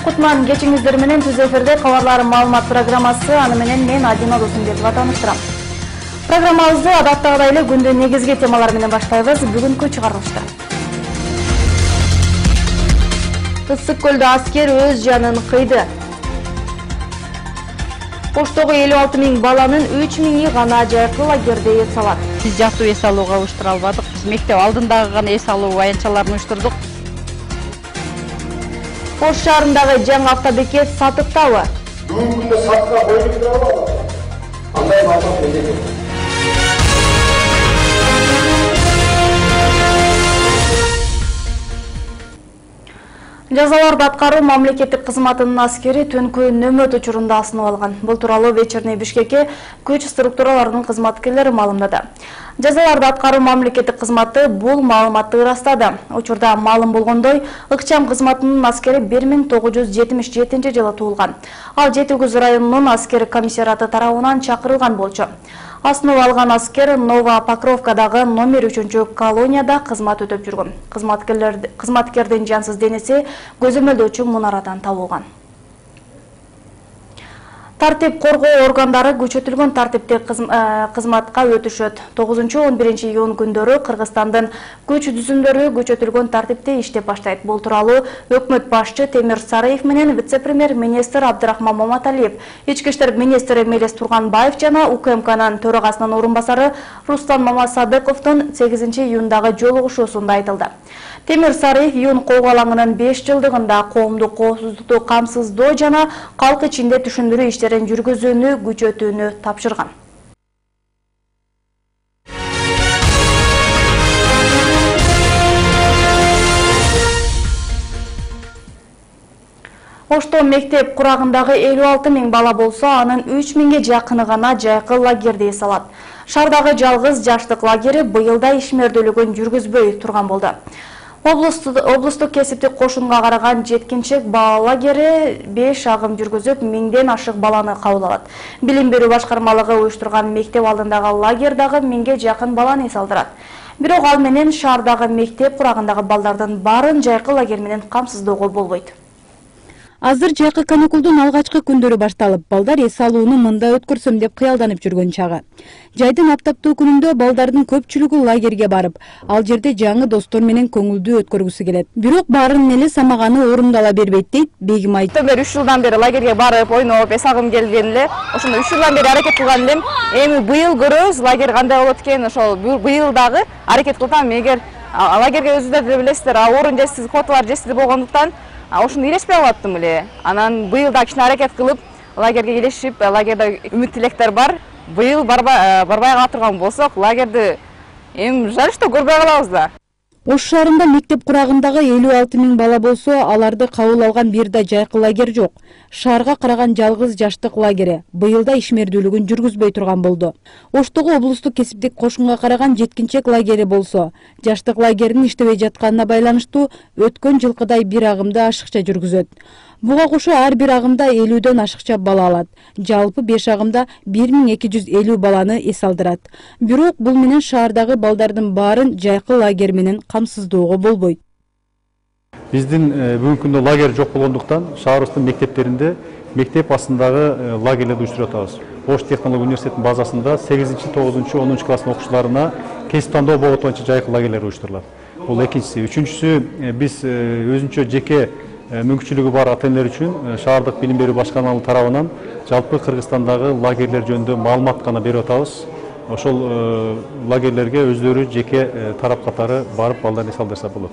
Кутман кечиңиздер менен түз эфирде кабарлар маалымат программасы, аны менен мен Адина Досумбекова таныштырам. Программабызды адаттагыдай эле күндүн негизги темалары менен баштайбыз. Бүгүнкү чыгарылышта. Ысык көлдө аскер өз жанын кыйды. Оштогу 56 000 баланын 3 000-и гана жайкы лагерде эс алат. Биз жактуу эс алууга уюштура албадык. Биз мектеп алдындагы гана эс алуу аянтчаларын уюштурдук. Ош шаарындагы жаңы автобекет сатыктабы? Бүгүнкү күндө сатыкка коюп турабы? Андай маалымат менде. Жазаларды аткаруу мамлекеттик кызматынын аскери түнкү нөмөт учурунда асынып алган. Бул тууралуу вечерний Бишкекке күч структураларынын кызматкерлери маалымдады. Жазаларды аткаруу мамлекеттик кызматы бул маалыматты ырастады. Учурда маалым болгондой, ыкчам кызматынын аскери 1977 жылы туулган. Ал Жети Күз районунун аскер комиссараты тарабынан чакырылган болчу. Асынып алган аскер Нова Покровкадагы номер 3 колонияда кызмат өтөп жүргөн. Кызматкердин жансыз денеси көзөмөлдөөчү мунарадан табылган. Тартип коргоо органдары күчөтүлгөн тартипте кызматка өтүшөт. 9-11 июнь күндөрү Кыргызстандын күч түзүмдөрү күчөтүлгөн тартипте иштеп баштайт. Бул тууралуу өкмөт башчы Темир Сарыев менен вице-премьер-министр Абдрахман Маматалиев, ички иштер министри Мелес Турганбаев жана УКМКнын төрагасынын орун басары Рустам Мамасадыковдун 8 июндагы жолугушуусунда айтылды. Темир Сарыев июнь кол алаңынын 5 жылдыгында коомдук коопсуздукту камсыздоо жана калк ичинде түшүндүрүү иштерин жүргүзүүнү күчөтүүнү тапшырган. Ошто мектеп курагындагы 56 000 бала болсо, анын 3 000ге жакыны гана жайкы лагерде эс алат. Шаардагы жалгыз жаштык лагери быйылда ишмердүүлүгүн жүргүзбөй турган болду. Облустук кесиптик кошунга караган жеткинчек бала лагери 5 агым жүргүзүп, 1000ден ашык баланы кабыл алат. Билим берүү башкармалыгы уюштурган мектеп алдындагы лагердагы 1000ге жакын баланы эс алдырат. Бирок ал менен шаардагы мектеп курагындагы балдардын баарын жайкы лагер менен камсыздоого болбойт. Азыр жайкы каникулдун алгачкы күндөрү башталып, балдар эс алууну мында өткөрсөм деп кыялданып жүргөн чагы. Жайдын аптаптуу күнүндө балдардын көпчүлүгү лагерге барып, ал жерде жаңы достор менен көңүлдүү өткөргүсү келет. Бирок баарынын эле самаганы орундала бербейт дейт Бегим Айт. Мен 3 жылдан бери лагерге барып, ойноп, эс алгым келген эле. Ошондо 3 жылдан бери аракет кылган элем. Эми быйыл көрөбүз лагерь кандай болот экен. Ошол быйыл дагы аракет кылсам, эгер лагерге өзүңүздөр деле билесиздер, орун жесиз, квоталар жесиз болгондуктан ошону илешпей калаттым эле. Анан быйыл да кичине аракет кылып, лагерге келишип, лагерде үмүт тилектер бар. Быйыл барбай кала турган болсок, лагерди эми жаль что көрбөй калабыз да. Ош шаарында мектеп курагындагы 56 000 бала болсо, аларды кабыл алган бир да жайкы лагер жок. Шаарга караган жалгыз жаштык лагери быйылда ишмердүүлүгүн жүргүзбөй турган болду. Оштогу облустук кесиптик кошунга караган жеткинчек лагери болсо, жаштык лагеринин иштебей жатканына байланыштуу өткөн жылкыдай бир агымда ашыкча жүргүзөт. Буга кошо ар бир агымда 50дөн ашыкча бала алат. Жалпы 5 агымда 1250 баланы эс алдырат. Бирок бул менен шаардагы балдардын баарын жайкы лагер менен камсыздоого болбойт. Биздин бүгүнкү күндө лагер жок болгондуктан шаарыбыздын мектептеринде мектеп астындагы лагерлерди уюштуруп атабыз. Ош технология университетинин базасында 8, 9, 10 класстын окуучуларына кесип тандоо болот боюнча жайкы лагерлер уюштурулат. Бул экинчиси. Үчүнчүсү, биз өзүнчө жеке мүмкүнчүлүгү бар ата-энелер үчүн шаардык билим берүү башкармалыгы тарабынан жалпы Кыргызстандагы лагерлер жөнүндө маалымат гана берип атабыз. Ошол лагерлерге өздөрү жеке тарап катары барып балдарын эс алдырса болот.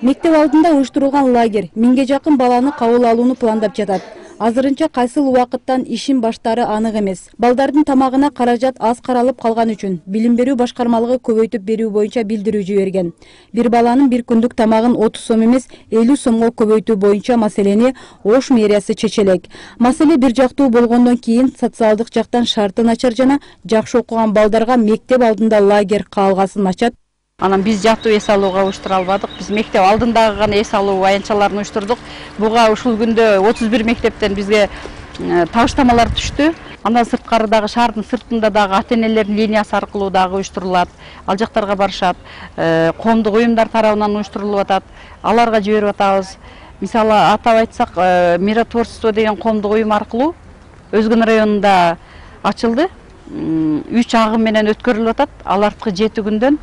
Мектеп алдында уюштурулган лагерь 1000ге жакын баланы кабыл алууну пландап жатат. Азырынча кайсыл убакыттан ишин баштары анык эмес. Балдардын тамагына каражат аз каралып калган үчүн билим берүү башкармалыгы көбөйтүп берүү боюнча билдирүү жиберген. Bir баланын bir күндүк тамагын 30 сом эмес 50 сомго көбөйтүү боюнча маселени Ош мэриясы чечелек. Маселе бир жактуу болгондон кийин социалдык жактан шарты начар жана жакшы окуган балдарга мектеп алдында лагерь каалгасын ачат. Анан биз жактуу эс алууга уюштура албадык. Биз мектеп алдындагы гана эс алуу аянтчаларын уюштурдук. Буга ушул күндө 31 мектептен бизге табыштамалар түштү. Андан сырткарыдагы шаардын сыртында дагы ата-энелердин линиясы аркылуу дагы уюштурулат. Ал жактарга барышат. Коомдук уюмдар тарабынан уюштурулуп атат. Аларга жиберип атабыз. Мисалы атап айтсак, Миротворчество деген коомдук уюм аркылуу Өзгөн районунда ачылды. 3 агым менен өткөрүлүп атат. Ал арткы 7 күндөн.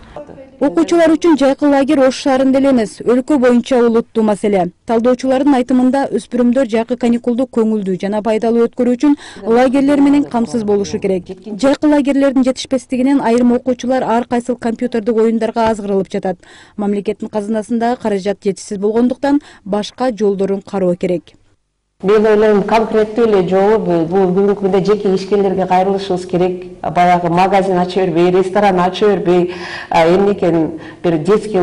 Окуучулар үчүн жайкы лагерь Ош шаарында эле эмес, өлкө боюнча улуттуу маселе. Талдоочулардын айтымында өспүрүмдөр жайкы каникулду көңүлдүү жана пайдалуу өткөрүү үчүн лагерлер менен камсыз болушу керек. Жайкы лагерлердин жетишпестигинен айрым окуучулар ар кайсыл компьютердик оюндарга азгырылып жатат. Мамлекеттин казынасындагы каражат жетишсиз болгондуктан башка жолдорун кароо керек. Мен ойлойм, конкреттүү эле жолу бул бүгүнкү күндө жеке ишкерлерге кайрылышыбыз керек. Баягы магазин ача бербей, ресторан ача бербей, эмнекен бир детский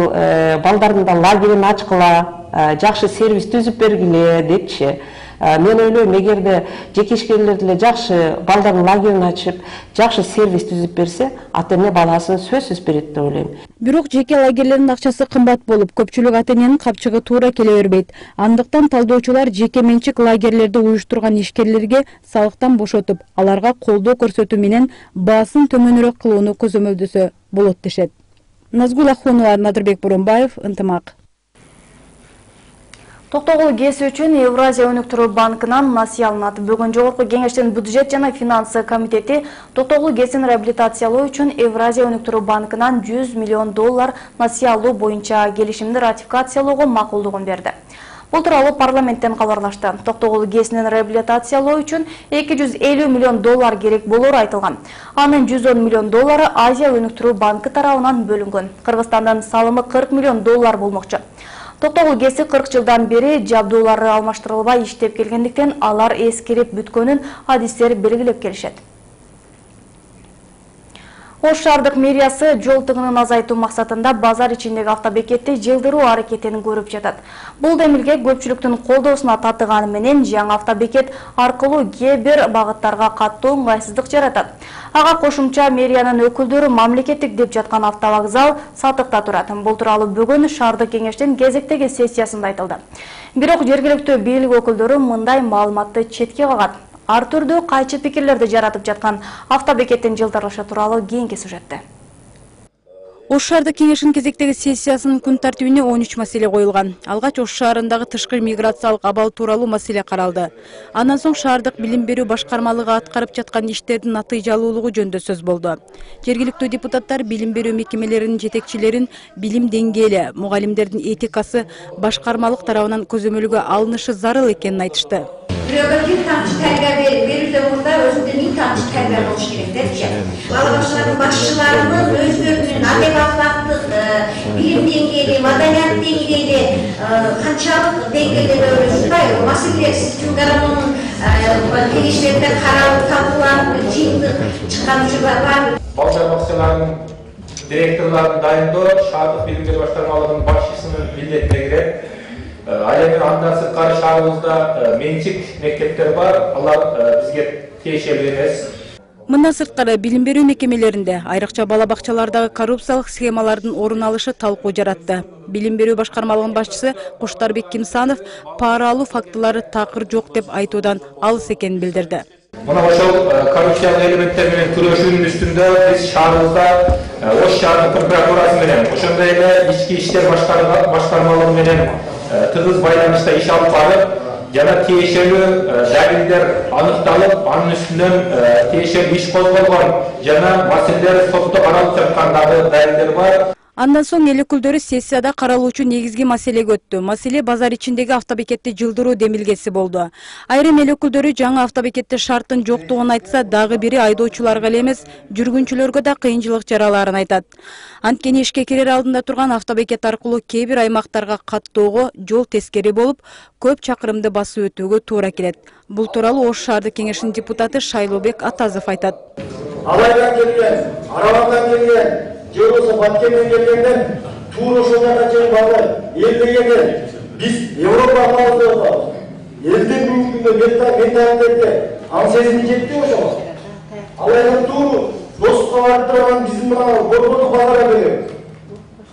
балдардын да лагерин ачкыла, жакшы сервис түзүп бергиле депчи. Мен ойлойм, эгерде жеке ишкерлер деле жакшы балдардын лагерин ачып, жакшы сервис түзүп берсе, ата-эне баласын сөзсүз берет деп ойлойм. Бирок жеке лагерлердин акчасы кымбат болуп, көпчүлүк ата-эненин капчыгы туура келе бербейт. Андыктан талдоочулар жеке менчик лагерлерди уюштурган ишкерлерге салыктан бошотуп, аларга колдоо көрсөтүү менен баасын төмөнүрөөк кылууну көзөмөлдөсө болот дешет. Назгул Ахунова, Надырбек Боронбаев, Ынтымак. Токтогул ГЭС үчүн Евразия өнүктүрүү банкынан насыя алынат. Бүгүн жогорку кеңештин бюджет жана финансы комитети Токтогул ГЭСин реабилитациялоо үчүн Евразия өнүктүрүү банкынан $100 миллион насыя алуу боюнча келишимди ратификациялоого макулдугун берди. Бул тууралуу парламенттен кабарлашты. Токтогул ГЭСинин реабилитациялоо үчүн $250 миллион керек болору айтылган. Анын $110 миллион Азия өнүктүрүү банкы тарабынан бөлүнгөн. Кыргызстандын салымы $40 миллион болмокчу. Токтогул ГЭСи 40 жылдан бери жабдуулары алмаштырылбай иштеп келгендиктен алар эскирип бүткөнүн адистер белгилеп келишет. Ош шаардык мэриясы жол тыгынын азайтуу максатында базар ичиндеги автобекетти жылдыруу аракетин көрүп жатат. Бул демилге көпчүлүктүн колдоосуна татыганы менен жаңы автобекет аркылуу кээ бир багыттарга катуу ыңгайсыздык жаратат. Ага кошумча мэриянын өкүлдөрү мамлекеттик деп жаткан автовокзал сатыкта турат. Бул тууралуу бүгүн шаардык кеңештин кезектеги сессиясында айтылды. Бирок жергиликтүү бийлик өкүлдөрү мындай маалыматты четке кагат. Ар түрдүү кайчы пикирлерди жаратып жаткан автобекеттин жылдырылышы тууралуу кийинки сюжетте. Ош шаардык кеңештин кезектеги сессиясынын күн тартибине 13 маселе коюлган. Алгач Ош шаарындагы тышкы миграциялык абал тууралуу маселе каралды. Андан соң шаардык билим берүү башкармалыгы аткарып жаткан иштердин натыйжалуулугу жөнүндө сөз болду. Жергиликтүү депутаттар билим берүү мекемелеринин жетекчилерин билим деңгээли, мугалимдердин этикасы башкармалык тарабынан көзөмөлгө алынышы зарыл экенин айтышты. Бирөөгө бир тамчы тарбия берүүдө мурда өзүндө 1000 тамчы тарбия болуш керек депчи. Балабакчалардын башчыларынын өздөрүнүн адекваттык, билим деңгээли, маданият деңгээли канчалык деңгээлде ушундай маселелер сиздин гармонун кеңештерде каралып талкууланып жыйынтык чыккан бар. Балдар бакчаларынын директорлорун дайындоо шаардык билим берүү башкармалыгынын башчысынын милдетине кирет. Ал эми андан сырткары шаарыбызда менчик мектептер бар, алар бизге тиешелүү эмес. Мындан сырткары билим берүү мекемелеринде айрыкча бала бакчалардагы коррупциялык схемалардын орун алышы талкуу жаратты. Билим берүү башкармалыгынын башчысы Куштарбек Кимсанов пара алуу фактылары такыр жок деп айтуудан алыс экенин билдирди. Мына ошол коррупциялык элементтер менен күрөшүүнүн үстүндө биз шаарыбызда Ош шаардык прокуратурасы менен, ошондой эле ички иштер башкармалыгы менен тыгыз байланышта иш алып барып, жана тиешелүү далилдер аныкталып, анын үстүнөн тиешелүү иш козголгон жана маселелер сотто каралып жаткандагы далилдер бар. Андан соң эл өкүлдөрү сессияда каралуучу негизги маселеге өттү. Маселе базар ичиндеги автобекетти жылдыруу демилгеси болду. Айрым эл өкүлдөрү жаңы автобекетте шарттын жоктугун айтса, дагы бири айдоочуларга эле эмес, жүргүнчүлөргө да кыйынчылык жаралаарын айтат. Анткени ишке кирер алдында турган автобекет аркылуу кээ бир аймактарга каттоого жол тескери болуп, көп чакырымды басып өтүүгө туура келет. Бул тууралуу Ош шаардык кеңешинин депутаты Шайлообек Атазов айтат. Алайдан келген, арабадан келген, же болбосо Баткенден келгендер туура ошол жака чейин барды. Эл дегенде биз Европа калыбыз деп атабыз. Элдин бүгүнкү күндө менталитетте ан сезими жетти ошого. Алайдан туура достукка барып турган биздин мына борбордук базарга келет.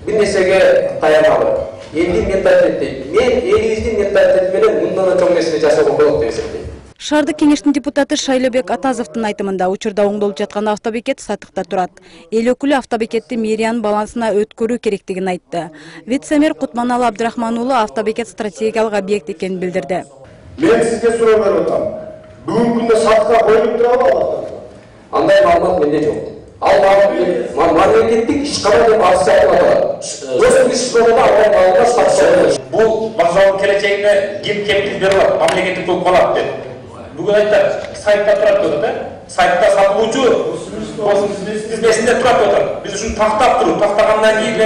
Бир нерсеге таяналы. Элдин менталитети. Мен элибиздин менталитети менен мындан да чоң нерсени жасоого болот деп эсептейм. Шаардык кеңештин депутаты Шайлобек Атазовдун айтымында учурда оңдолуп жаткан автобекет сатыкта турат. Эл өкүлү автобекетти мэриянын балансына өткөрүү керектигин айтты. Вице-мэр Кутманалы Абдрахман уулу автобекет стратегиялык объект экенин билдирди. Мен сизге суроо берип атам. Бүгүнкү күндө сатыкка коюлуп турабы? Андай маалымат менде жок. Ал мамлекеттик ишкана деп арыз айтып атат. Өз ишканада андай маалымат сатылат. Бул вокзалдын келечегине кепилдик берип алат, мамлекеттик болуп калат деп. Бүгүн айтат, сайтта турат деп атат. Сайтта сатылуучу тизмесинде турат деп атат. Биз ушуну тактап туруп, тактагандан кийин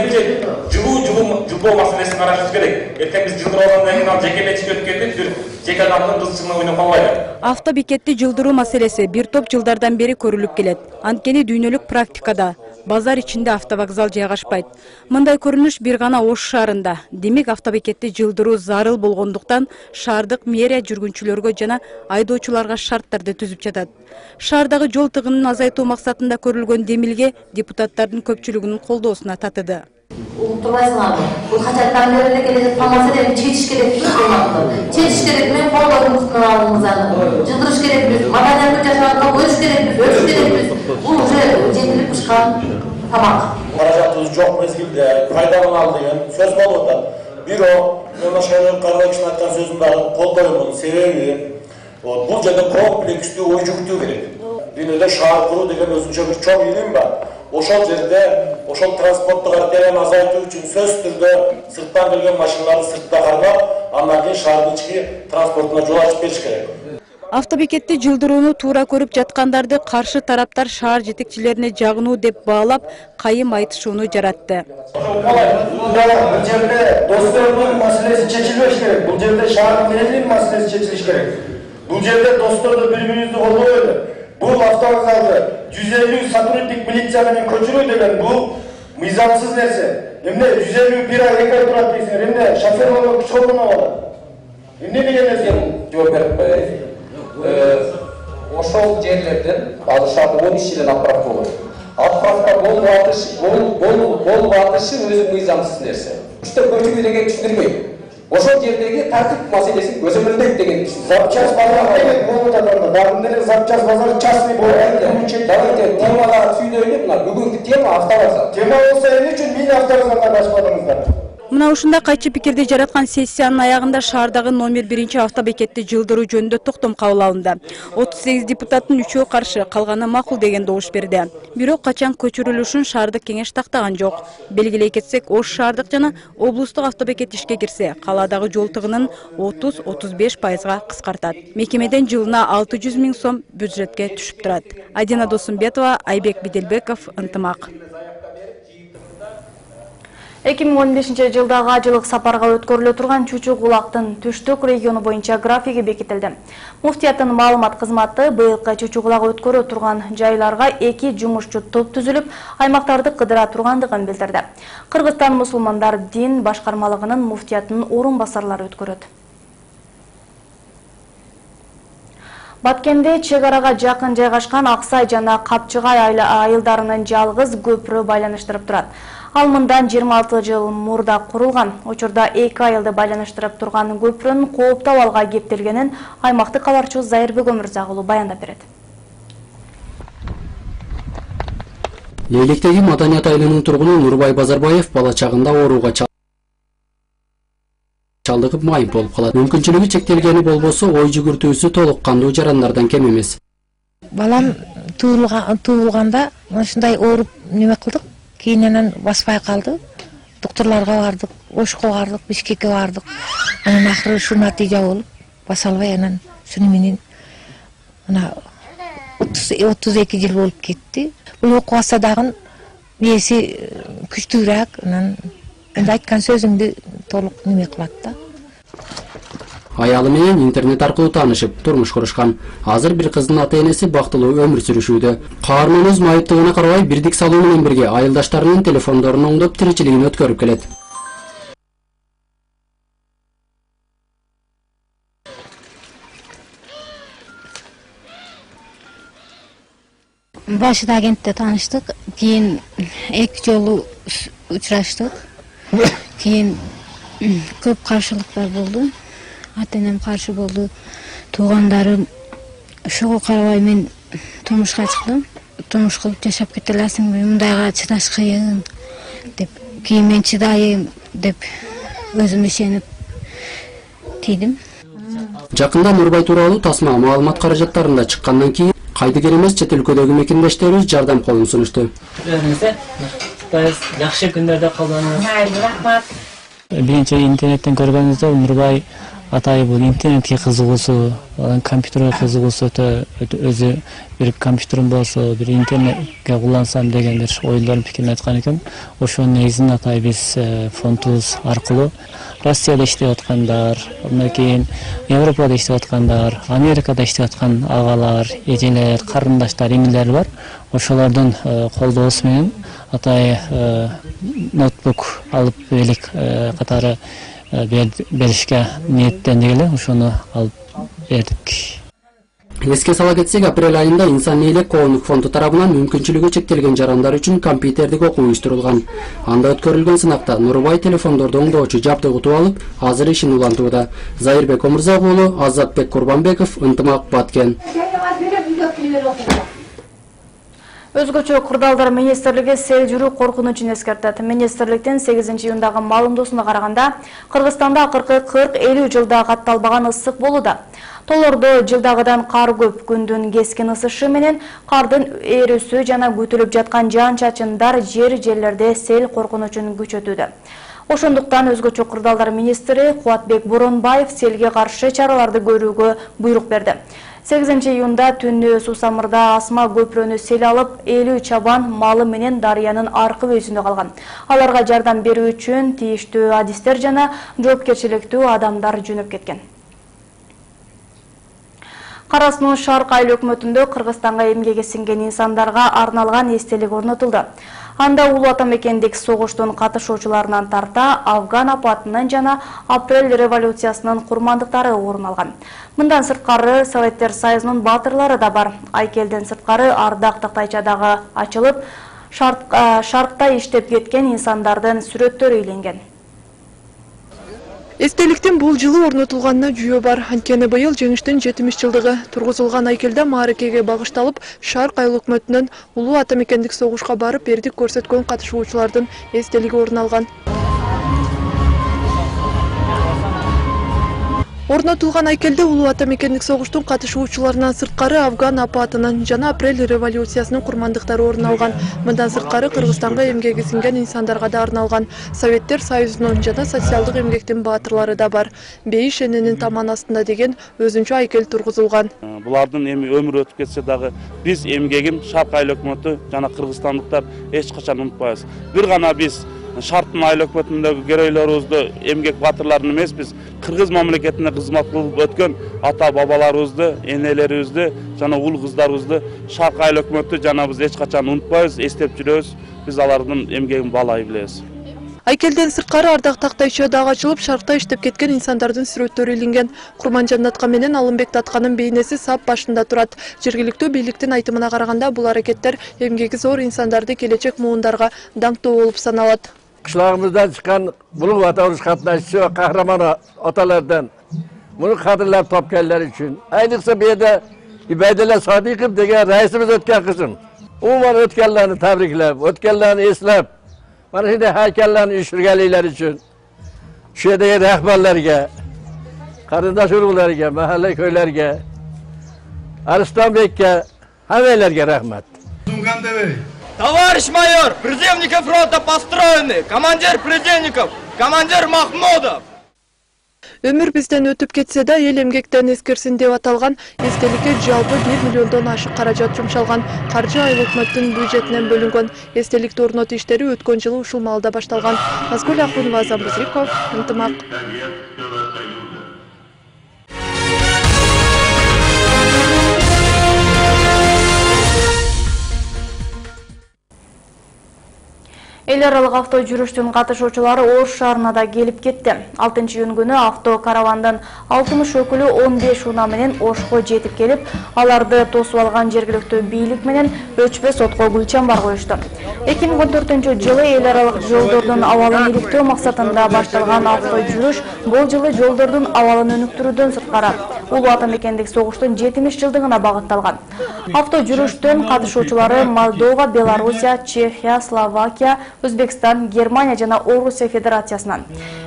жылуу маселесин карашыбыз керек. Эртең биз жылдырып алгандан кийин ал жеке менчикке өтүп кетип, бир жеке адамдын кызычылыгына ойноп калбайбы? Автобекетти жылдыруу маселеси бир топ жылдардан бери көрүлүп келет. Анткени дүйнөлүк практикада базар ичинде автовокзал жайгашпайт. Мындай көрүнүш бир гана Ош шаарында. Демек автобекетти жылдыруу зарыл болгондуктан шаардык мэрия жүргүнчүлөргө жана айдоочуларга шарттарды түзүп жатат. Шаардагы жол тыгынын азайтуу максатында көрүлгөн демилге депутаттардын көпчүлүгүнүн колдоосуна татыды. Турбайсыңарбы? Бул качаттан бери келе жаткан маселени чечиш керек болмакты. Чечиш керек, мен колдодум алыңыздар. Жылдырыш керекпиз, маданиятты жашаганга өсүш керекпиз. Бул уже жетилип чыккан тамак. Каражатыбыз жок мезгилде пайдаланалы деген сөз болуп атат. Бирок, мен ошол Карловичтин айткан сөзүн дагы колдоймун. Себеби бул жерде комплекстүү ой жүктүү керек. Дүйнөдө шаар куруу деген өзүнчө бир чоң илим бар. Ошол жерде, ошол транспорттук артерияны азайтуу үчүн сөз түрдө сырттан келген машиналарды сыртта кармап, андан кийин шаардын ички транспортуна жол ачып бериш керек. Автобекетти жылдырууну туура көрүп жаткандарды каршы тараптар шаар жетекчилерине жагынуу деп баалап, кайым айтышууну жаратты. Бул жерде достордун маселеси чечилбеш керек. Бул жерде шаардын элинин маселеси чечилиш керек. Бул жерде досторду бири-бирибизди колдобойлу. Бул автовокзалды 150 сотрудник милиция менен көчүрүү деген бул мыйзамсыз нерсе. Эмне 150 бир ай 2 ай турат дейсиңер, эмне шоферлорго күч колдонуп алат. Эмне деген нерсе? Жооп берип коеюн. Ошол жерлерден азыр шаардын 10 ишинен отправка болот. Отправка болуп атышы өзү мыйзамсыз нерсе. Уште көчүрүү деген түшүндүрбөйт. Ошол жердеги тартип маселесин көзөмөлдөйт деген запчас базар деген болуп атат. Дагы запчас базар частный болот. Давайте темага сүйнөйлү, мына бүгүнкү тема автовокзал. Тема болсо эмне үчүн мени автовокзалга башкадыңыздар? Мына ушундай кайчы пикирди жараткан сессиянын аягында шаардагы номер 1 автобекетти жылдыруу жөнүндө токтом кабыл алынды. 38 депутаттын 3-өө каршы, калганы макул деген добуш берди. Бирок качан көчүрүлүшүн шаардык кеңеш тактаган жок. Белгилей кетсек, Ош шаардык жана облустук автобекет ишке кирсе, калаадагы жол тыгынын 30-35%га кыскартат. Мекемеден жылына 600 000 сом бюджетке түшүп турат. Адина Досумбетова, Айбек Биделбеков, Ынтымак. 2015 жылдагы ажылык сапарга өткөрүлө турган Чучу Кулактын түштүк региону боюнча графиги бекитилди. Муфтияттын маалымат кызматы быйылкы Чучу Кулак өткөрө турган жайларга 2 жумушчу топ түзүлүп, аймактарды кыдыра тургандыгын билдирди. Кыргызстан мусулмандар дин башкармалыгынын муфтияттын орун басарлары өткөрөт. Баткенде чек арага жакын жайгашкан Аксай жана Капчыгай айылдарынын жалгыз көпүрө байланыштырып турат. Ал мындан 26 жыл мурда курулган. Учурда 2 айылды байланыштырып турган көпүрөнүн кооптуу абалга кептелгенин аймактык кабарчыбыз Зайырбек Өмүрзагулу баяндап берет. Лейлектеги Маданият айылынын тургуну Нурбай Базарбаев бала чагында ооруга чалдыгып майып болуп калат. Мүмкүнчүлүгү чектелгени болбосо ой жүгүртүүсү толук кандуу жарандардан кем эмес. Балам туулганда ушундай ооруп неме кылдык. Кийинен баспай калды. Докторлорго бардык, Ошко бардык, Бишкекке бардык. Анан акыры ушул натыйжа болуп, баса албай анан шуну менен мына 32 жыл болуп кетти. Бул окубаса дагы мээси күчтүүрөөк, анан энди айткан сөзүңдү толук неме кылат да. Аялы менен интернет аркылуу таанышып, турмуш курушкан. Азыр бир кыздын ата-энеси бактылуу өмүр сүрүшүүдө. Каарманыбыз майыптыгына карабай бирдик салуу менен бирге айылдаштарынын телефондорун оңдоп тиричилигин өткөрүп келет. Башында агентте тааныштык, кийин 2 жолу учураштык. Кийин көп каршылыктар болду. Ата-энем каршы болду, туугандарым ошого карабай мен турмушка чыктым. Турмуш кылып жашап кете аласыңбы? Мындайга чыдаш кыйын деп, кийин мен чыдайын деп өзүм ишенип тийдим. Жакында Нурбай тууралуу тасма маалымат каражаттарында чыккандан кийин кайдыгер эмес чет өлкөдөгү мекендештерибиз жардам колун сунушту. Өзүңүздөр жакшы күндөрдө колдонуңуз. Рахмат. Биринчи интернеттен көргөнүздө Нурбай атай бул интернетке кызыгуусу, компьютерге кызыгуусу, өзү бир компьютерим болсо, бир интернетке куллансам деген бир оюлдорун пикирин айткан экен. Ошонун негизинен атай биз фондубуз аркылуу Россияда иштеп аткандар, андан кийин Европада иштеп аткандар, Америкада иштеп аткан агалар, эжелер, карындаштар, эмилер бар. Ошолордун колдоосу менен атай ноутбук алып элек катары беришке ниеттендик эле, ошону алып бердик. Эске сала кетсек, апрель айында Инсан ээлик коомдук фонду тарабынан мүмкүнчүлүгү чектелген жарандар үчүн компьютердик окуу уюштурулган. Анда өткөрүлгөн сынакта Нурбай телефондорду оңдоочу жабдык утуп алып, азыр ишин улантууда. Зайырбек Омурзак уулу, Азатбек Курбанбеков, Ынтымак, Баткен. Өзгөчө кырдаалдар министрлиги сел жүрүү коркунучун эскертет. Министрликтин 8-июндагы маалымдоосуна караганда, Кыргызстанда акыркы 40-50 жылда катталбаган ысык болууда. Толордо жылдагыдан кар көп, күндүн кескин ысышы менен кардын эрүүсү жана күтүлүп жаткан жаан-чачындар жерлерде сел коркунучун күчөтүүдө. Ошондуктан өзгөчө кырдаалдар министри Кубатбек Боронбаев селге каршы чараларды көрүүгө буйрук берди. 8-июнда түнү Сусамырда асма көпүрөнү сел алып, 50 чабан малы менен дарыянын аркы бөйсүндө калган. Аларга жардам берүү үчүн тийиштүү адистер жана жоопкерчиликтүү адамдар жөнөп кеткен. Караснын Шарк айыл өкмөтүндө Кыргызстанга эмгеги сиңген инсандарга арналган эстелик орнотулду. Анда улуу атамекендик согуштун катышуучуларынан тарта Афган апатынын жана Апрель революциясынын курмандыктары орун алган. Мындан сырткары Советтер Союзунун баатырлары да бар. Айкелден сырткары Ардак тактайча дагы ачылып, Шаркта иштеп кеткен инсандардын сүрөттөрү ийленген. Эстеликтин бул жылы орнотулганына жүйө бар. Анткени быйыл жеңиштин 70 жылдыгы тургузулган айкелде мааракеге багышталып, Шарк айыл өкмөтүнүн улуу атамекендик согушка барып эрдик көрсөткөн катышуучулардын эстелиги орун алган. Орнотулган айкелде улуу атамекендик согуштун катышуучуларынан сырткары Афган апатынын жана Апрель революциясынын курмандыктары орун алган. Мындан сырткары Кыргызстанга эмгеги сиңген инсандарга да арналган Советтер Союзунун жана социалдык эмгектин баатырлары да бар. Бейиш эненин таман астында деген өзүнчө айкел тургузулган. Булардын эми өмүрү өтүп кетсе дагы биз эмгегин Шарк айыл өкмөтү жана кыргызстандыктар эч качан унутпайбыз. Бир гана биз Шарктын айыл өкмөтүндөгү геройлорубузду, эмгек батырларын эмес, биз кыргыз мамлекетине кызмат кылып өткөн ата бабаларыбызды, энелерибизди жана уул кыздарыбызды Шарк айыл өкмөтү жана биз эч качан унутпайбыз, эстеп жүрөбүз. Биз алардын эмгегин баалай билебиз. Айкелден сырткары Ардак тактайча дагы ачылып, Шаркта иштеп кеткен инсандардын сүрөттөрү илинген. Курманжан Датка менен Алымбек Датканын бейнеси сап башында турат. Жергиликтүү бийликтин айтымына караганда, бул аракеттер эмгеги зор инсандарды келечек муундарга даңктоо болуп саналат. Кышлағымыздан шыққан бұлық атауыз қатынашысы қахраман аталардан мұны қадырлап топкәлілер үшін. Айнықса бейді İbadələ Sadiqov деген рәисimiz өткен қысым. Umuman ötkənlərini təbrikləb, ötkənlərini esləb, mana şimdi heykəllərini işirgəliylər üçün, şüyədəyə rəhbərlərgə, qarındaş urğulərgə, məhəllə köylərgə, Aristan Bek'ə, həməylərgə rəhmət. Товарищ майор, призывники фронта построены, командир Приденников, командир Махмудов. Өмүр бизден өтүп кетсе да, эл эмгектен эскерсин деп аталган эстеликке жалпы 1 миллиондон ашык каражат жумшалган. Каржы айыл өкмөттүн бюджетинен бөлүнгөн. Эстеликти орнотуу иштери өткөн жылы ушул маалда башталган. Назгүл Ахунова, Замбузриков, Ынтымак. Эл аралык авто жүрүштүн катышуучулары Ош шаарына да келип кетти. 6-июнь күнү авто каравандын 60 өкүлү 15 унаа менен Ошко жетип келип, аларды тосуп алган жергиликтүү бийлик менен өчпөс сотко гүл чамбар коюшту. 2014-жылы эл аралык жолдордун абалын иликтөө максатында башталган авто жүрүш бул жылы жолдордун абалын өнүктүрүүдөн сырткары улуу ата мекендик согуштун 70 жылдыгына багытталган. Авто жүрүштөн катышуучулары Молдова, Белоруссия, Чехия, Словакия, Өзбекстан, Германия жана Орусия Федерациясынан.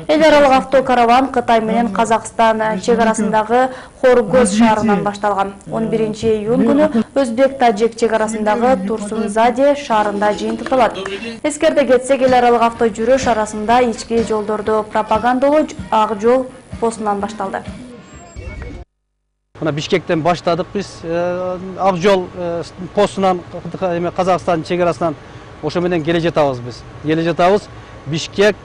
Эл аралык автокараван Кытай менен Казакстан чек арасындагы Хоргоз шаарынан башталган. 11 июнь күнү Өзбек-Тажик чек арасындагы Турсунзаде шаарында жыйынтыкталат. Эскерте кетсек, эл аралык авто жүрүш арасында ички жолдорду пропагандалоо ак жол постунан башталды. Мына Бишкектен баштадык биз ак жол постунан Казакстан чек арасынан ошо менен келе жатабыз биз. Келе жатабыз Бишкек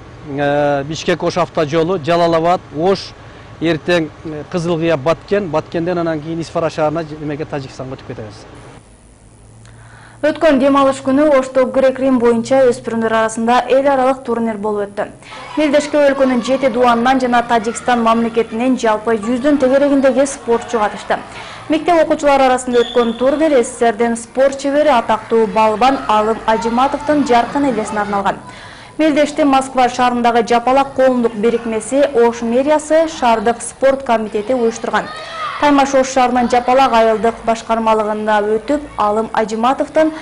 Ош автожолу, Жалалабад, Ош, эртең Кызылкыя, Баткенден анан кийин Исфара шаарына Тажикстанга өтүп кетебиз. Өткөн дем алыш күнү Ошто грек-рим боюнча өспүрүмдөр арасында эл аралык турнир болуп өттү. Мелдешке өлкөнүн 7 дуанынан жана Тажикстан мамлекетинен жалпы 100дөн тегерегиндеги спортчу катышты. Мектеп окуучулары арасында өткөн турнир СССРдин спорт чебери атактуу балбан Алым Ажиматовдун жаркын элесине арналган. Мелдеште Москва шаарындагы Жапалак коомдук бирикмеси Ош мэриясы шаардык спорт комитети уюштурган. Таймаш Ош шаарынын Жапалак айылдык башкармалыгында өтүп, Алым Ажиматовдун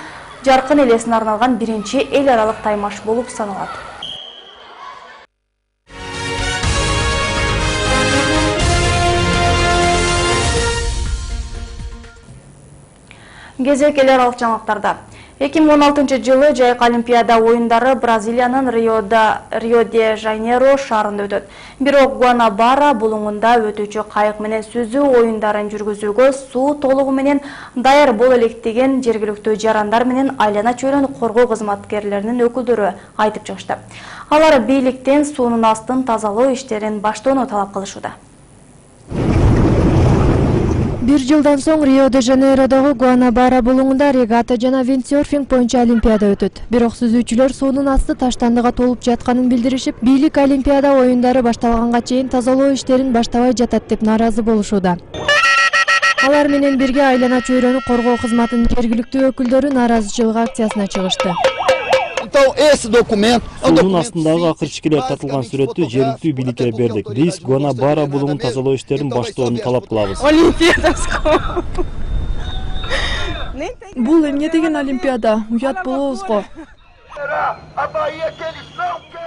жаркын элесине арналган биринчи эл аралык таймаш болуп саналат. Кезек эл аралык жаңылыктарда. 2016 жылы жайкы Олимпиада оюндары Бразилиянын Рио-де-Жанейро шаарында өтөт. Бирок Гуанабара булуңунда өтүүчү кайык менен сүзүү оюндарын жүргүзүүгө суу толугу менен даяр боло электеген жергиликтүү жарандар менен айлана чөйрөнү коргоо кызматкерлеринин өкүлдөрү айтып чыгышты. Алар бийликтен суунун астын тазалоо иштерин баштоону талап кылышууда. Bir жылдан соң Рио-де-Жанейродогу Гуанабара булуңунда регата жана виндсерфинг боюнча Олимпиада өтөт. Бирок сүзүүчүлөр суунун асты таштандыга толуп жатканын билдиришип, бийлик Олимпиада оюндары башталганга чейин тазалоо иштерин баштабай жатат деп нааразы болушууда. Алар менен бирге айлана чөйрөнү коргоо кызматынын жергиликтүү өкүлдөрү нааразычылык акциясына чыгышты. Суунун астындагы акырчыкелер тартылган сүрөттү жергиликтүү бийликке бердик. Биз Гуанабара булуңун тазалоо иштерин баштоону талап кылабыз. Бул эмне деген Олимпиада? Уят болобузго.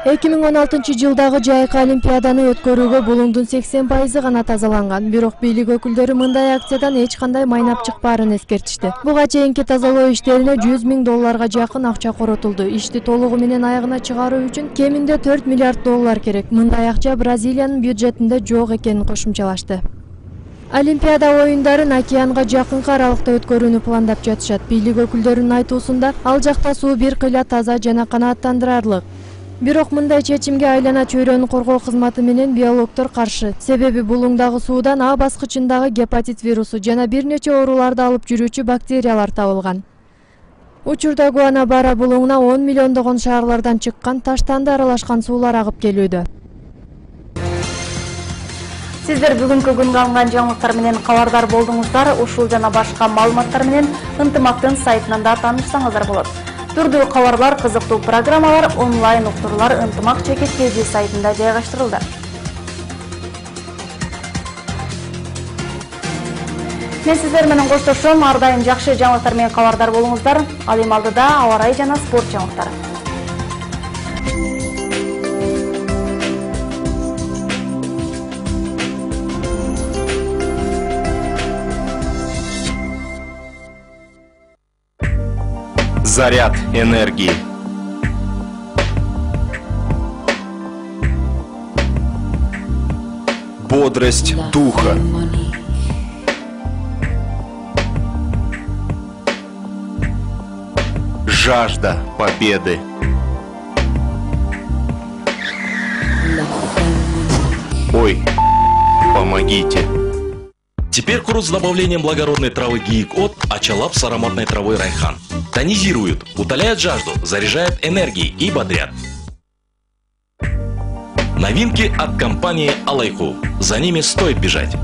2016 жылдагы жайкы Олимпиаданы өткөрүүгө булуңдун 80% гана тазаланган. Бирок бийлик өкүлдөрү мындай акциядан эч кандай майнап чыкпаарын эскертишти. Буга чейинки тазалоо иштерине $100,000 жакын акча коротулду. Ишти толугу менен аягына чыгаруу үчүн кеминде $4 миллиард керек. Мындай акча Бразилиянын бюджетинде жок экенин кошумчалашты. Олимпиада оюндарын океанга жакынкы аралыкта өткөрүүнү пландап жатышат. Бийлик өкүлдөрүнүн айтуусунда, ал жакта суу бир кыйла таза жана канааттандырарлык. Бирок мындай чечимге айлана чөйрөнү коргоо кызматы менен биологдор каршы. Себеби булуңдагы суудан А баскычындагы гепатит вирусу жана бир нече ооруларды алып жүрүүчү бактериялар табылган. Учурда Гуанабара булуңуна 10 миллиондогон шаарлардан чыккан таштанды аралашкан суулар агып келүүдө. Сиздер бүгүнкү күнгө алынган жаңылыктар менен кабардар болдуңуздар. Ушул жана башка маалыматтар менен Ынтымактын сайтынан да таанышсаңыздар болот. Түрдүү кабарлар, кызыктуу программалар, онлайн уктуруулар Ынтымак ЧК сайтында жайгаштырылды. Мен сиздер менен коштошом. Ар дайым жакшы жаңылыктар менен кабардар болуңуздар. Ал эми алдыда аба ырайы жана спорт жаңылыктары. Заряд энергии. Бодрость духа. Жажда победы. Ой, помогите. Теперь курс с добавлением благородной травы Гиик-От Ачалап с ароматной травой Райхан. Тонизируют, утоляют жажду, заряжают энергией и бодрят. Новинки от компании Алайху. За ними стоит бежать.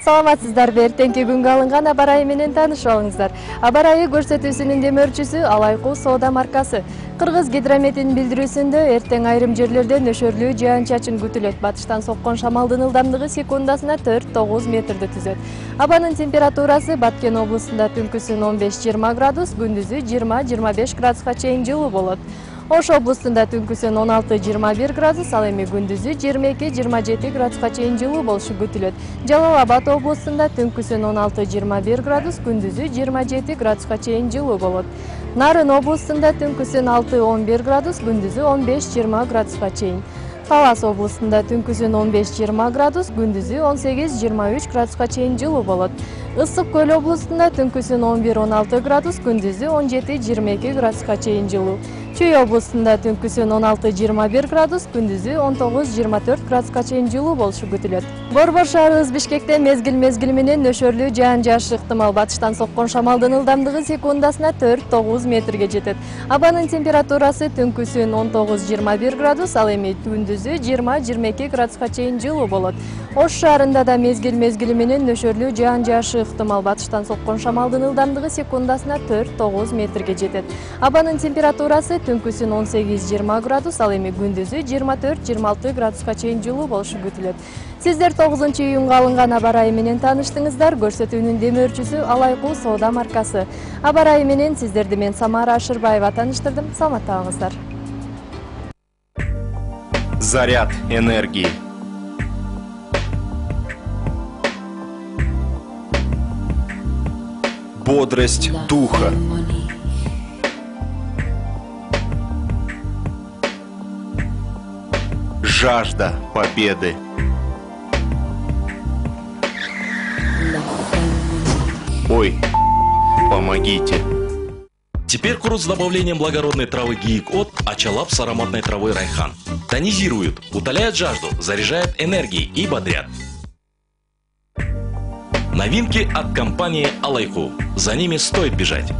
Саламатсыздарбы? Эртеңки күнгө алынган аба ырайы менен таанышып алыңыздар. Аба ырайы көрсөтүүсүнүн демөөрчүсү Алайкуу соода маркасы. Кыргыз гидрометинин билдирүүсүндө эртең айрым жерлерде нөшөрлүү жаан-чачын күтүлөт. Батыштан соккон шамалдын ылдамдыгы секундасына 4-9 метрди түзөт. Абанын температурасы Баткен облусунда түнкүсүн 15-20 градус, күндүзү 20-25 градуска чейин жылуу болот. Ош облусунда түнкүсүн 16-21 градус, ал эми күндүзү 22-27 градуска чейин жылуу болушу күтүлөт. Жалал Абад облусунда түнкүсүн 16-21 градус, күндүзү 27 градуска чейин жылуу болот. Нарын облусунда түнкүсүн 6-11 градус, күндүзү 15-20 градуска чейин. Талас облусунда түнкүсүн 15-20 градус, күндүзү 18-23 градуска чейин жылуу болот. Ысык көл облусунда түнкүсүн 11-16 градус, күндүзү 17-22 градуска чейин жылуу. Чүй облусунда түнкүсүн 16-21 градус, күндүзү 19-24 градуска чейин жылуу болушу күтүлөт. Борбор шаарыбыз Бишкекте мезгил менен нөшөрлүү жаан жаашы ыктымал. Батыштан соккон шамалдын ылдамдыгы секундасына 4-9 метрге жетет. Абанын температурасы түнкүсүн 19-21 градус, ал эми күндүзү 20-22 градуска чейин жылуу болот. Ош шаарында да мезгил менен нөшөрлүү жаан жаашы ыктымал. Батыштан соккон шамалдын ылдамдыгы секундасына 4-9 метрге жетет. Абанын температурасы түнкүсүн 18-20 градус, ал эми күндүзү 24-26 градуска чейин жылуу болушу күтүлөт. Сиздер 9-июнга алынган аба ырайы менен тааныштыңыздар. Көрсөтүүнүн демөөрчүсү Алайкуу соода маркасы. Аба ырайы менен сиздерди мен Самара Ашырбаева тааныштырдым. Саламатта болуңуздар. Заряд энергии. Бодрость духа. Жажда победы. Ой, помогите. Теперь курс с добавлением благородной травы гиик-от Ачалап с ароматной травой райхан. Тонизирует, утоляет жажду, заряжает энергией и бодрят. Новинки от компании Алайкуу. За ними стоит бежать.